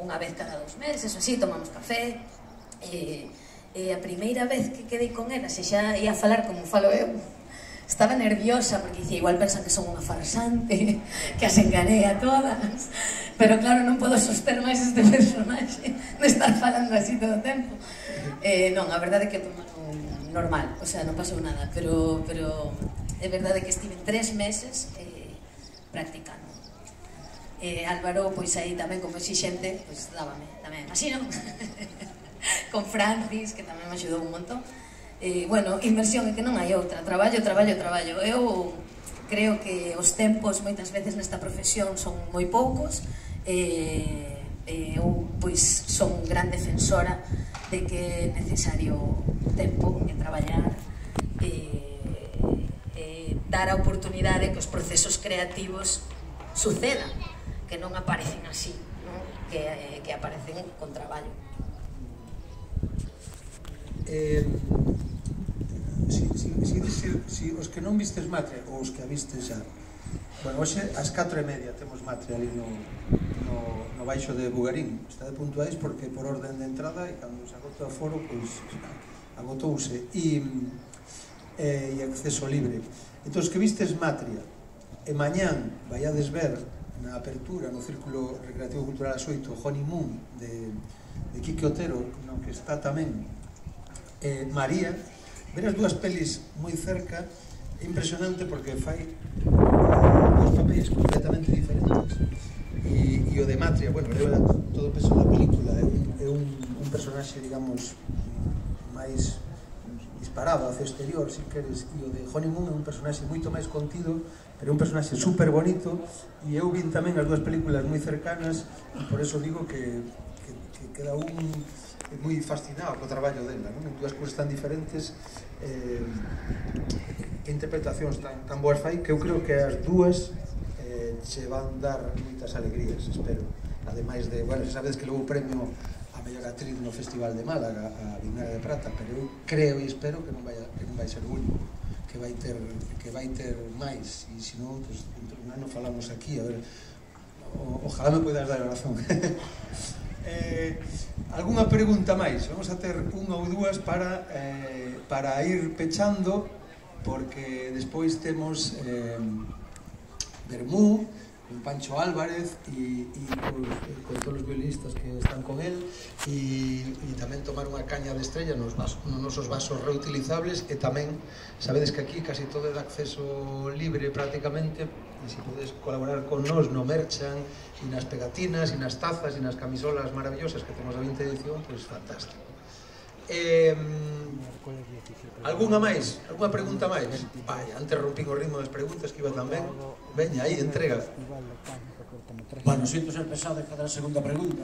unha vez cada 2 meses, así, tomamos café, e a primeira vez que quedei con ela, se xa ia falar como falo eu, estaba nerviosa, porque dicía, igual pensan que son unha farsante, que as enganei a todas, pero claro, non podo soster máis este personaxe de estar falando así todo o tempo. Non, a verdade é que tomaron normal, o sea, non pasou nada, pero é verdade que estive 3 meses practicando. Álvaro, pois aí tamén como exixente, pois dábame tamén así, non? Con Francis, que tamén me axudou un montón. Bueno, inversión é que non hai outra, traballo. Eu creo que os tempos moitas veces nesta profesión son moi poucos. Eu pois son gran defensora de que é necesario tempo en traballar, dar a oportunidade que os procesos creativos sucedan, que non aparecen así, non? Que aparecen con traballo. Si os que non vistes Matria, ou os que a vistes xa, bueno, hoxe ás 4:30 temos Matria ali no baixo de Bugarín. Está de puntuais porque por orden de entrada, e cando se agota o foro, pois agotouse, e acceso libre. Entón, os que vistes Matria, e mañán vaiades ver na apertura no Círculo Recreativo Cultural as 8 Honeymoon de Quique Otero, no que está tamén María, ver as dúas pelis moi cerca é impresionante porque fai dos papéis completamente diferentes, e o de Matria, bueno, leva todo o peso da película, é un personaxe, digamos, máis disparado hacia o exterior, se queres, e o de Honeymoon é un personaxe moito máis contido, pero é un personaxe super bonito, e eu vin tamén as dúas películas moi cercanas, e por eso digo que queda un moi fascinado co traballo dela, non? En dúas cousas tan diferentes, interpretacións tan boas fai, que eu creo que as dúas che van dar moitas alegrías, espero. Ademais de, bueno, sabedes que logo premio a mellor actriz no Festival de Málaga, a Vinagre de Prata, pero eu creo e espero que non vai ser o único, que vai ter máis, e se non, pues, dentro de un ano falamos aquí, a ver, ojalá me poidas dar a razón. Algúna pregunta máis? Vamos a ter unha ou dúas para ir pechando, porque despois temos Bermú, con Pancho Álvarez e con todos os violinistas que están con él, e tamén tomar unha caña de estrella nos nosos vasos reutilizables, e tamén, sabedes que aquí casi todo é de acceso libre prácticamente, e se podes colaborar con nós no merchan, e nas pegatinas, e nas tazas, e nas camisolas maravillosas que temos a 20 edición, pois fantástico. Algúna máis? Algúna pregunta máis? Vai, antes rompín o ritmo das preguntas que iba tan ben. Veña, aí, entrega. Bueno, sinto ser pesado de cada segunda pregunta.